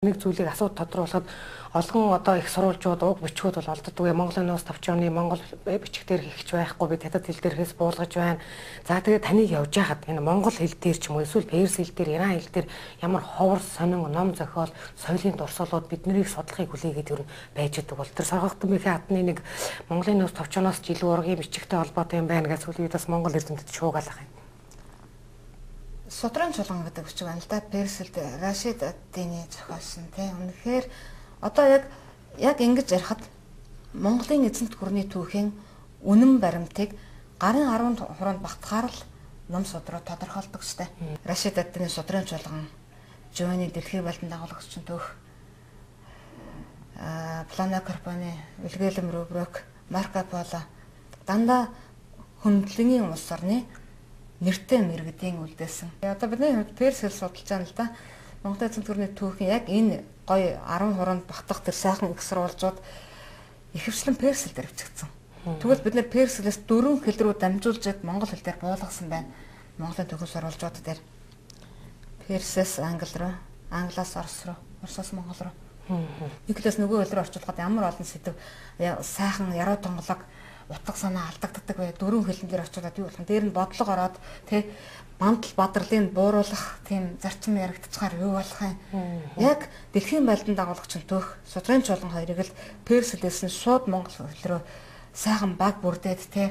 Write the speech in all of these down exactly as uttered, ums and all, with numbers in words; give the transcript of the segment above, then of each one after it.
нэг зүйлийг асууд тодруулахад олгон одоо их сурвалжууд уг бичгүүд бол олддгүй. Монголын нуус товч оны монгол бичгээр хийхч байхгүй би хятад хэл дээрээс буулгаж байна. За тэгээд таныг явж байхад энэ монгол хэл дээр ч юм уу эсвэл перс хэл дээр, иран хэл дээр ямар ховор сонин ном зохиол, соёлын дурсгалууд бид нарыг судлахыг хүлээгээд ер нь байж идэг бол тэр соргогдсон мэхээ хатны нэг Монголын нуус товч оноос ч илүү ургийн бичгтэй холбоотой юм байна гэж сүүлийн үед бас монгол эрдэмтэд шуугаалах юм. Судрын чулган гэдэг бичиг байна л да. Персэлд Рашид ад-Дины зохиолсон тийм. Үнэхээр одоо яг яг ингэж ярихад Монголын эзэнт гүрний түүхийн үнэн баримтыг гарын арван хуруунд багтахаар л ном судруу тодорхойлдог штэ. Рашид ад-Дины судрын чулган, Жованы дэлхийн байлдан дагуулагчийн түүх, а Плано Карпоны, Вильгельм Руброк, Марко Поло дандаа хөндлөнгийн улс орны нэртэй мэрэгдийн үлдээсэн. Одоо бидний хувьд перс хэл судалж байгаа л да. Монголын эзэнт гүрний түүхийн яг энэ гоё арван хуруунд багтах тэр сайхан их сурвалжууд ихэвчлэн перс хэл дээр бичигдсэн. Тэгвэл бид нэр перс хэлээс дөрвөн хэл рүү дамжуулж монгол хэл дээр буулгасан байна. Монголын түүхийн сурвалжууд дээр персээс англи руу, англиас орос руу, оросоос монгол руу. Нэг хэлээс нөгөө хэл рүү орчуулахад ямар олон сэдв сайхан яруу тонголог утга санаа алдагддаг бай. Дөрвөн хэлэн дээр очиулаад юу болох нь дээр нь бодлого ороод тий мандал бадрлыг бууруулах тийм зарчим яригдчихаар юу болох юм. Яг дэлхийн байлдан дагуулагчийн түүх судрын чулган хоёрыг л перс хэлээс нь шууд монгол хэл рүү сайхан баг бүрдээд тий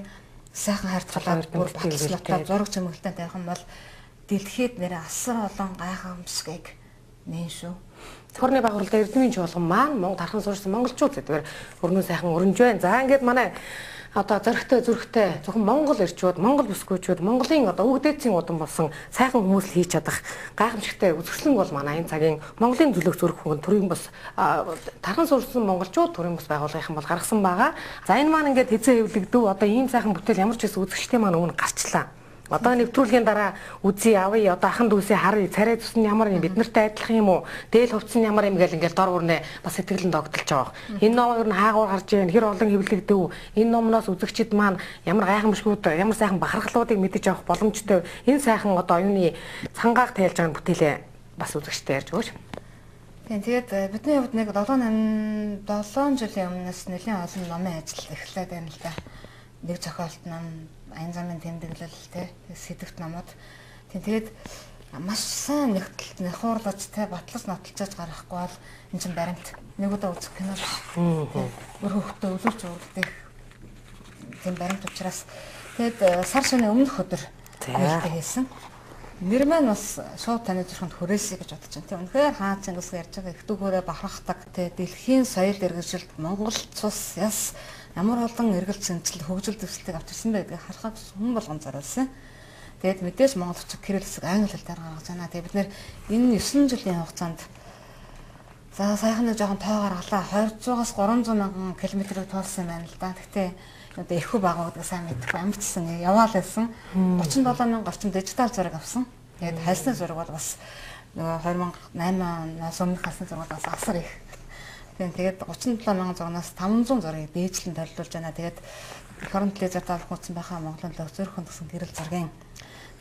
сайхан харьцуулаад бүр баталслалтаа зураг чимэглэлтэй тавих юм бол дэлхийд нэр асар олон гайхамшигыг нээн шүү. Цорны байгууллагын эрдмийн чуулган маань Монгол тархан суурьсан монголчууд гэдгээр өрнөө сайхан өрнж байна. За ингээд манай одоо зөрөгтэй зүрхтэй зөвхөн монгол ирчүүд, монгол бүсгүйчүүд, Монголын одоо өвгдээцийн удан болсон сайхан хүмүүс л хийж чадах гайхамшигтай үзэсгэлэн бол манай энэ цагийн Монголын зүлэг зүрх хүн төрийн бас тархан суурьсан монголчууд төрийн бас байгууллагын бол гаргасан байгаа. За энэ маань ингээд хэзээ хэвлэгдэв одоо ийм сайхан бүтээл ямар ч гэсэн үзэгчтэй маань өмнө гарчлаа. Одоо нэвтрүүлгийн дараа үзий авъя одоо ахын дүүсээ харъя царай цус нь ямар юм бид нартай адилхан юм уу дээл хувцс нь ямар юм гээл ингээл дор бүрнээ бас сэтгэл нь догдолж байгаа. Энэ ном ер нь хаагуур гарч ийн хэр олон хэвлэгдэв энэ номноос үзэгчид маань ямар гайхамшгууд ямар сайхан бахархлуудыг мэдэж авах боломжтой энэ сайхан одоо оюуны цангааг тайлж байгаа бүтээлээ бас үзэгчтэй ярьж өгөөч. Тийм тэгээд бидний хувьд нэг долоон жилийн өмнөөс нэлийн олон номын ажил эхлээд байна л да. Нэг зохиолт ном аян замын тэмдэглэл те сэдвт номод тийм тэгээд маш сайн нэгтэл нөхөрлөж те батлаж нотолцож гаргахгүй бол энэ чинь баримт нэг удаа үзэх кино бүр хөвгтөө өлөвч урддаг тийм баримт учраас тэгээд сар шөнө өмнөх өдөр айлтаа хийсэн нэр маань бас шууд таны зүрхэнд хүрээсэй гэж бодож байна. Тийм үнэхээр хаа Чингис ярьж байгаа их дүүгээрээ бахархдаг те дэлхийн соёл иргэншилд Монгол цус яс ямар олон эргэлт зэнцэл хөгжил дэвсэлтийг авчирсан байдгийг харахад хүн болгон зориулсан. Тэгээд мэдээж монгол хүчиг кирилл хэсэг англи хэлээр гаргаж байна. Тэгээд бид нэр энэ есөн жилийн хугацаанд за сайхан нэг жоохон тоо гаргалаа двухсад-аас гурамзар мянган километрийг туулсан байна л да. Гэхдээ одоо эрхүү байгаа гэдэг сайн мэдхгүй амжсан яваал байсан. гучин долоо мянган орчим дижитал зураг авсан. Тэгээд хальсны зураг бол бас нөгөө хоёр мянга найман оноос өмнөх хальсны зураг бас асар их. Тэгээд гучин долоо мянган зургаас таван зуун зургийг дээжлэн толиулж байна. Тэгээд фронт лезер таалах утсан байхаа Монголын зөрхөн гэсэн гэрэл зургийн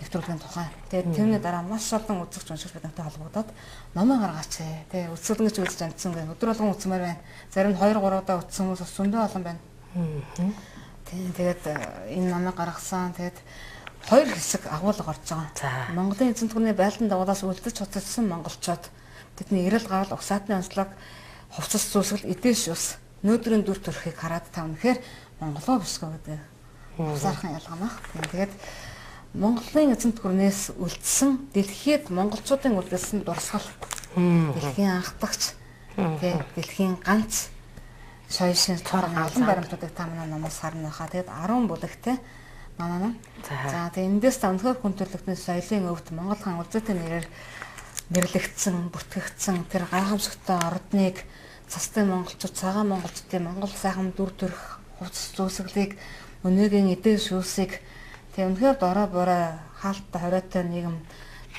нэвтрүүлгийн тухай. Тэгээд тэрний дараа маш олон үзэгч уншигч бидэнтэй холбогдоод номоо гаргаач. Тэгээд үзүүлэн гэж үзэж амжсан гэх өдөр болгон үзмээр байна. Зарим нь хоёр гурав удаа үзсэн хүмүүс бас зөндөө олон байна. Тэгээд энэ номыг гаргасан. Тэгээд хоёр хэсэг агуулга орж байгаа. Монголын эзэнт гүрний байлдан дагуулаас үлдэж цуцалсан монголчууд тэдний эрэл гарал угсаатны онцлог хувцас зүсгэл эдээс ус нөөдрийн дүр төрхийг хараад та үнэхээр монголоо бисгүй гэдэг усаархан ялгаамах. Тэгээд Монголын эзэнт гүрнээс үлдсэн дэлхийд монголчуудын үлдсэн дурсгал дэлхийн анхдагч тэгээд дэлхийн ганц соёл шин цорын олон баримтуудыг та манай номоос харна хаа. Тэгээд арван бүлэгтэй манай ном. За тэгээд эндээс та үнэхээр хүн төрөлхтний соёлын өвд Монгол хаан үлдээтэй нэрээр нэрлэгдсэн, бүртгэгдсэн тэр гайхамшигтай ордныг цастай монголчууд, цагаан монголчуудын монгол сайхан дүр төрх хувцас зүүсгэлийг өнөөгийн эдийн шүүсийг тэг үнэхээр дорой борой хаалттай хориотой нийгэм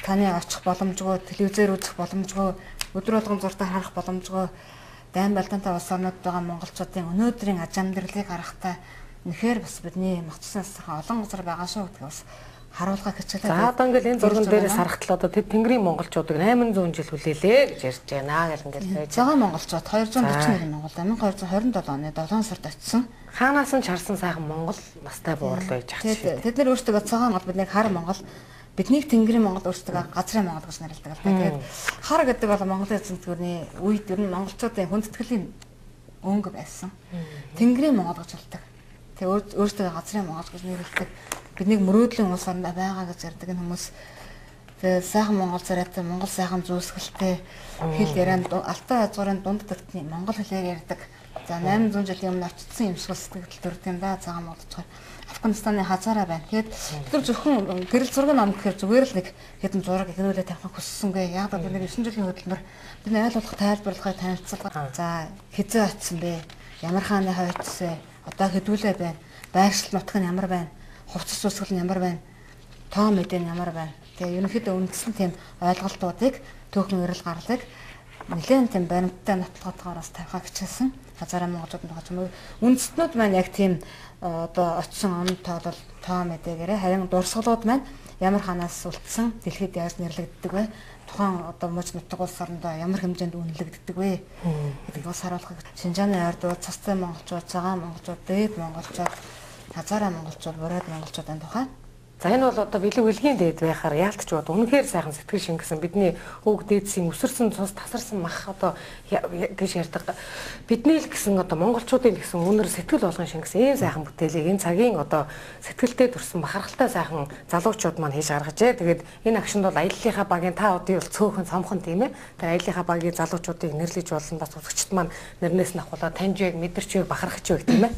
таны очих боломжгүй, телевизээр үзэх боломжгүй, өдөр болгон зуртаа харах боломжгүй дайн байлдаантай улс орнууд байгаа монголчуудын өнөөдрийн аж амьдралыг харахтай үнэхээр бас бидний мацсан олон газар байгаа шүү гэдгийг бас харуулгах хичээлээ. За одоо ингээл энэ зурган дээрээс харахтал одоо тэд Тэнгэрийн монголчуудыг восемь сая жил хүлээлээ гэж ярьж байна гэл ингээл байж. Цагаан монголчууд two hundred forty нэрийн монгол twelve twenty two оны долоон сард очсон. Хаанаас нь чарсан сайхан монгол настай буурал байж ах шиг. Тэд нар өөрсдөө цагаан монгол биднийг хар монгол биднийг Тэнгэрийн монгол өөрсдөө газрын монгол гэж нэрлэдэг. Тэгээд хар гэдэг бол Монголын эзэн төгөөний үед ер нь монголчуудын хүндэтгэлийн өнгө байсан. Тэнгэрийн монгол гэж хэлдэг. Тэгээд өөрсдөө газрын монгол гэж нэрлэдэг. Биднийг мөрөөдлийн улс орнд байгаа гэж ярьдаг энэ хүмүүс. Тэгээд сайхан монгол царайтай, монгол сайхан зүүсгэлтэй хэл ярианд алтай хязгаарын дунд тагтны монгол хэлээр ярьдаг. За восемь сая жилийн өмнө очсон юм шиг сэтгэл төрд юм да. Цагаан монголчууд Афганистаны хазаараа байна. Тэгээд тэр зөвхөн гэрэл зураг ном гэхээр зүгээр л нэг хэдэн зураг ихнүүлээ тавих хүссэнгүй. Яг бол бид девять жилийн хөдөлмөр бидний ойлгох тайлбарлахыг танилцуулга. За хизээ очсон бэ? Ямар хааны хойцсон? Одоо хэдүүлээ байна? Байршил нутг нь ямар байна? Хувцас зүсгэл нь ямар байна? Тоо мэдээ нь ямар байна? Тэгээ ерөнхийдөө үндсэн тийм ойлголтуудыг түүхэн эрэл гарлыг нэлээд тийм баримттай нотлохотойгоор бас тавихаа хичээсэн. Хазаараа монголчууд байгаа юм. Үндэстнүүд маань яг тийм одоо очсон он тоолол тоо мэдээгээрээ харин дурсгалууд маань ямар ханаас үлдсэн дэлхийд яаж нэрлэгддэг вэ? Тухайн одоо мөч нутаг улс орондоо ямар хэмжээнд үнэлэгддэг вэ? Гэдгийг бас харуулах. Шинжааны ойрдууд, цастай монголчууд, цагаан монголчууд, дээд монголчууд, хазаараа монголчууд, бурайд монголчуудын тухай. За энэ бол одоо бэлэг үлгийн дээд байхаар яалтч бод үнэхээр сайхан сэтгэл шингэсэн бидний өг дээдсийн өсөрсөн цус тасарсан мах одоо гэж ярьдаг бидний л гэсэн одоо монголчуудын гэсэн үнэр сэтгэл болгон шингэсэн ийм сайхан бүтээлийг энэ цагийн одоо сэтгэлдээ төрсэн бахархалтай сайхан залуучууд маань хийж гаргажээ. Тэгээд энэ агшинд бол аяллахаа багийн та удаа бол цөөхөн цомхон тийм ээ. Тэр аяллахаа багийн залуучуудыг нэрлэж болон бас үзэгчд маань нэрнээс нь ахуулаад таньж байг мэдэрч байг бахархаж байг тийм ээ.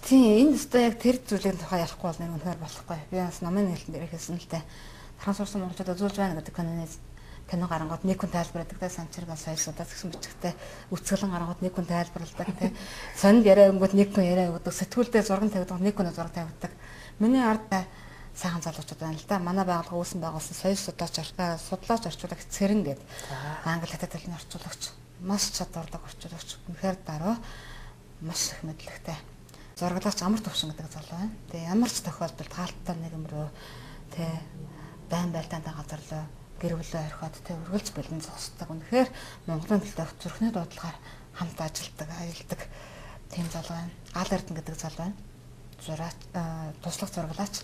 Тийм энэ өстой яг тэр зүйлийн тухай ярихгүй бол нэг үнэхээр болохгүй. Би бас номын хэлтэн дээр хэлсэн л дээ. Тархан сурсан монголчууд үзүүлж байна гэдэг киноны кино гарангууд нэг хүн тайлбарладаг те санчиргаа соёлсуудаас гэсэн бичгтээ үцгэлэн гарангууд нэг хүн тайлбарладаг те. Сонд яриа өнгөд нэг хүн яриа өгдөг. Сэтгүүлдээ зураг тавьдаг нэг хүн зураг тавьдаг. Миний ард сайхан залуучууд байна л да. Манай байгууллага үүсэн байгуулсан соёл судлаач артаа судлаач орчуулагч Цэрэн гэдэг англи хятад хэлний орчуулагч маш чадвартай орчуулагч. Үнэхээр дараа маш их мэдлэгтэй. Зураглаач амар төвшин гэдэг залуу байна. Тэгээ ямар ч тохиолдолд хаалттай нэг юм руу тэ байн байлдаантай газар руу гэр бүлээ орхиод тэ үргэлж бэлэн зогсдог. Үнэхээр Монголын төлөө зүрхний дуудлагаар хамт ажилладаг, аялдаг тийм залуу байна. Гал Эрдэнэ гэдэг залуу байна. Зураач, туслах зураглаач.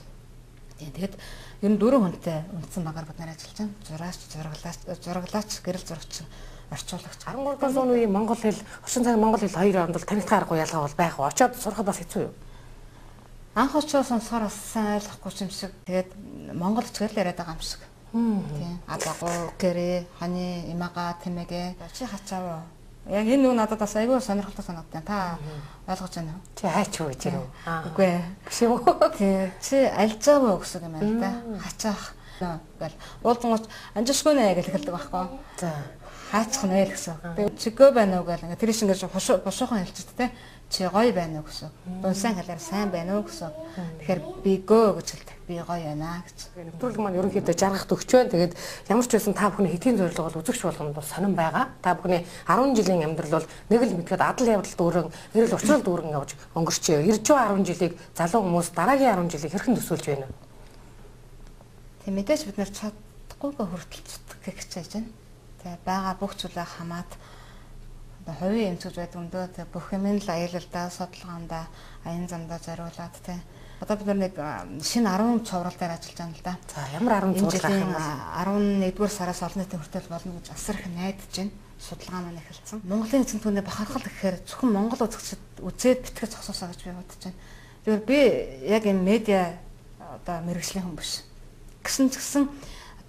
Тэгээд ер нь дөрвөн хүнтэй үндсэн багаар бид нар ажиллаж байна. Зураач, зураглаач, зураглаач, гэрэл зурагч орчуулагч. арван гуравдугаар зууны үеийн монгол хэл, орчин цагийн монгол хэл хоёр хооронд танигдах аргагүй ялгаа бол байх уу? Очоод сурахад бас хэцүү юу? Анх очоод сонсохоор бас сайн ойлгохгүй юм шиг. Тэгээд монгол хэл яриад байгаа юм шиг. Тийм. Адагуу, гэрээ, ханы, имага, тэмэгэ. Чи хачаав. Яг энэ нүг надад бас айгүй сонирхолтой санагдсан. Та ойлгож байна уу? Чи хайч уу гэж юм уу? Үгүй ээ. Биш үү? Тийм. Чи альжаав уу гэсэн юм байна да. Хачаах. Гэл. Уулзгооч анжишгүй нэ гэж хэлдэг байхгүй. За. Хаачих нь вэ гэсэн. Тэгээд чигөө байна уу гэл ингээ тэр шиг ингээ бушуухан хэлчихдэг те. Чи гоё байна уу гэсэн. Дунсан хэлээр сайн байна уу гэсэн. Тэгэхээр би гөө гэж хэлдэг. Би гоё байна гэж. Нэвтрүүлэг маань ерөнхийдөө жаргахт өгч байна. Тэгээд ямар ч байсан та бүхний хэдийн зорилго бол үзэгч болгонд бол сонирн байгаа. Та бүхний арван жилийн амьдрал бол нэг л мэдгээд адал явдал дүүрэн, эрэл учрал дүүрэн явж өнгөрчөө. Ирж байгаа арван жилийг залуу хүмүүс дараагийн арван жилийг хэрхэн төсөөлж байна вэ? Тэг мэдээж бид нар чадахгүйгээ хүртэл зүтгэх хичээж байна. Тэг байгаа бүх зүйлээ хамаад одоо хувийн эмчилж байдаг юм дөө тэг бүх юм л аялалдаа, судалгаандаа, аян замдаа зориулаад тэг. Одоо бид нэг шинэ арван цуврал дээр ажиллаж байгаа л да. За ямар арван цуврал гэх юм бэ? арван нэгдүгээр сараас олон нийтийн хүртэл болно гэж асар их найдаж байна. Судалгаа маань эхэлсэн. Монголын эзэн түүний бахархал гэхээр зөвхөн Монгол үзэгчид үзээд битгэж зогсоосоо гэж би бодож байна. Тэгэхээр би яг энэ медиа одоо мэргэжлийн хүн биш. Гэсэн ч гэсэн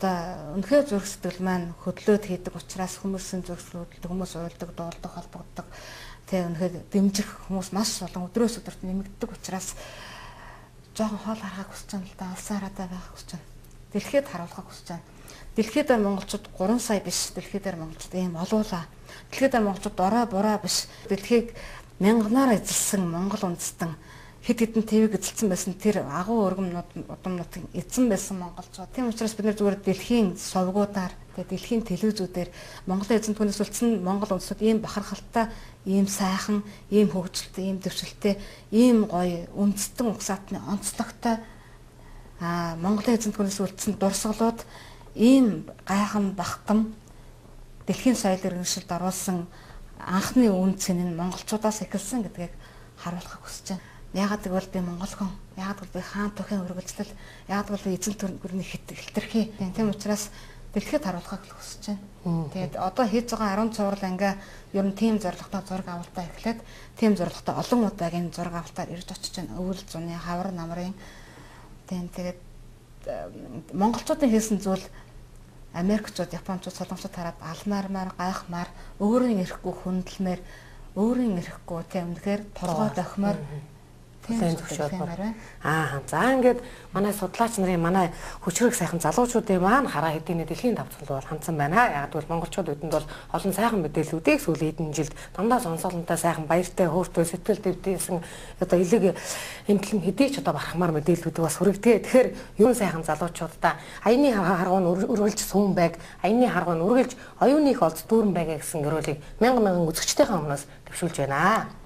одоо үнэхээр зүрх сэтгэл маань хөдлөөд хийдэг учраас хүмүүсийн зүрх хөдлөлт хүмүүс уйлдаг, дуулдаг, холбогддог. Тэгээ үнэхээр дэмжих хүмүүс маш олон өдрөөс өдөрт нэмэгддэг учраас жоохон хоол харахыг хүсэж байна л да. Алсан хараадаа байх хүсэж байна. Дэлхийд харуулахыг хүсэж байна. Дэлхийд монголчууд гурван сая биш. Дэлхийд монголчууд ийм олуулаа. Дэлхийд монголчууд орой бураа биш. Дэлхийг мянганаар эзэлсэн монгол үндэстэн хэд хэдэн твэг эзэлсэн байсан тэр агуу өргөмнүүд удамнуудын эзэн байсан монголчууд. Тийм учраас бид нар зүгээр дэлхийн совгуудаар тэгээ дэлхийн телевизүүдээр Монголын эзэн түүнээс үлдсэн монгол үндэстнүүд ийм бахархалтай, ийм сайхан, ийм хөгжилтэй, ийм төвшөлтэй, ийм гоё үндэстэн угсаатны онцлогтой Аа Монголын эзэнт гүрнээс үлдсэн дурсгалууд ийм гайхан бахгам дэлхийн соёл иргэншилд оруулсан анхны үн цэн нь монголчуудаас эхэлсэн гэдгийг харуулахыг хүсэж байна. Яагаад гэвэл би монгол хүн, яагаад гэвэл би хаан тухайн үргэлжлэл, яагаад гэвэл эзэнт гүрний хэтэрхий. Тийм учраас дэлхийд харуулахыг хүсэж байна. Тэгээд одоо хийж байгаа арван цуврал анги ер нь тийм зорилготой зураг авалтаа эхлээд тийм зорилготой олон удаагийн зураг авалтаар ирж очиж байна. Өвөл зуны, хавар намрын. Тэгээд монголчуудын хийсэн зүйл Америкчууд, Япончууд, Солонгосчууд хараад алмаармаар, гайхмаар, өөрийн эрэхгүй хүндэлмээр, өөрийн эрэхгүй тийм үнэхээр торгой дохимоор тийм зөвшөөрөл. Аа за ингээд манай судлаач нарын манай хүчрэг сайхан залуучуудын маань хараа хэдийн дэлхийн давтцал бол хандсан байна. Яг гэвэл монголчууд бидэнд бол олон сайхан мэдээллүүдийг сүүлийн хэдэн жилд дандаа сонсоолонтой сайхан баяртай хөөртэй сэтгэл дэвтээсэн одоо элэг эмтлэн хэдий ч одоо барахмаар мэдээллүүдийг бас хүргэдэг. Тэгэхээр юун сайхан залуучуудаа аяны харгуун өргөлж сүүн байг, аяны харгуун өргөлж оюуных олз дүүрэн байга гэсэн гэрүүлийг мянган мянган үзэгчдийн өмнөөс төвшүүлж байна.